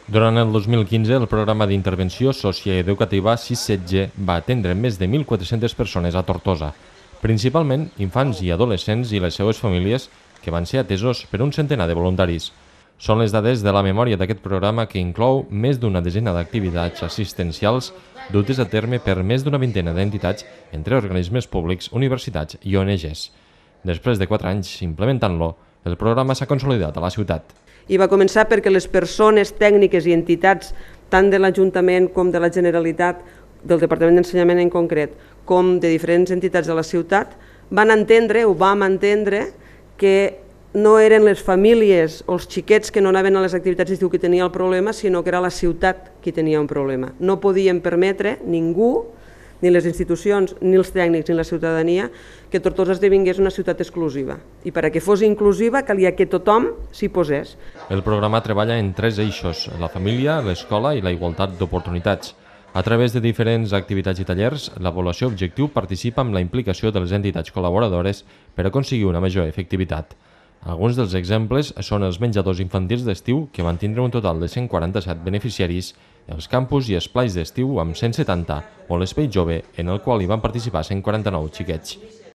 Durant el 2015, el programa d'intervenció socioeducativa 6-7G va atendre més de 1.400 persones a Tortosa, principalment infants i adolescents i les seues famílies que van ser atesos per un centenar de voluntaris. Són les dades de la memòria d'aquest programa que inclou més d'una desena d'activitats assistencials dutes a terme per més d'una vintena d'entitats entre organismes públics, universitats i ONGs. Després de 4 anys implementant-lo, el programa s'ha consolidat a la ciutat. I va començar perquè les persones tècniques i entitats, tant de l'Ajuntament com de la Generalitat, del Departament d'Ensenyament en concret, com de diferents entitats de la ciutat, van entendre, o vam entendre, que no eren les famílies o els xiquets que no anaven a les activitats d'estiu que tenia el problema, sinó que era la ciutat qui tenia un problema. No podíem permetre ningú, ni les institucions, ni els tècnics, ni la ciutadania, que Tortosa esdevingués una ciutat exclusiva. I perquè fos inclusiva calia que tothom s'hi posés. El programa treballa en 3 eixos: la família, l'escola i la igualtat d'oportunitats. A través de diferents activitats i tallers, la població objectiu participa amb la implicació de les entitats col·laboradores per aconseguir una major efectivitat. Alguns dels exemples són els menjadors infantils d'estiu, que van tindre un total de 147 beneficiaris, els campus i esplais d'estiu amb 170, o l'espai jove, en el qual hi van participar 149 xiquets.